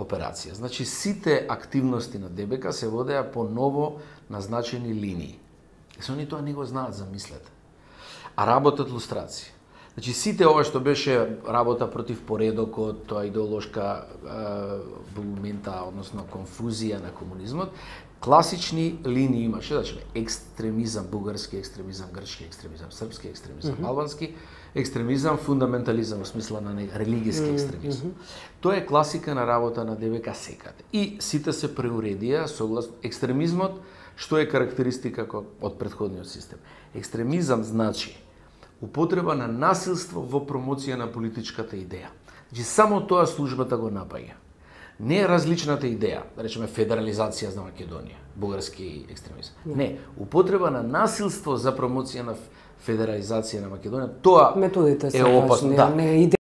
операција. Значи, сите активности на ДБК се водеа по ново назначени линии. Се они тоа не го знаат, замислете. А работат лустрација. Значи, сите ова што беше работа против поредокот, тоа идеолошка булмента, односно конфузија на комунизмот, класични линии имаше, значи екстремизам, бугарски екстремизам, грчки екстремизам, српски екстремизам, албански екстремизам, фундаментализам во смисла на религиски екстремизам. Тоа е класика на работа на ДБК секаде. И сите се преуредија согласно екстремизмот, што е карактеристика од претходниот систем. Екстремизам значи употреба на насилство во промоција на политичката идеја. Значи, само тоа службата го напаѓа. Не е различната идеја, да речеме федерализација за Македонија, бугарски екстремизам. Не, употреба на насилство за промоција на федерализација на Македонија, тоа методите е опасно. Да. Не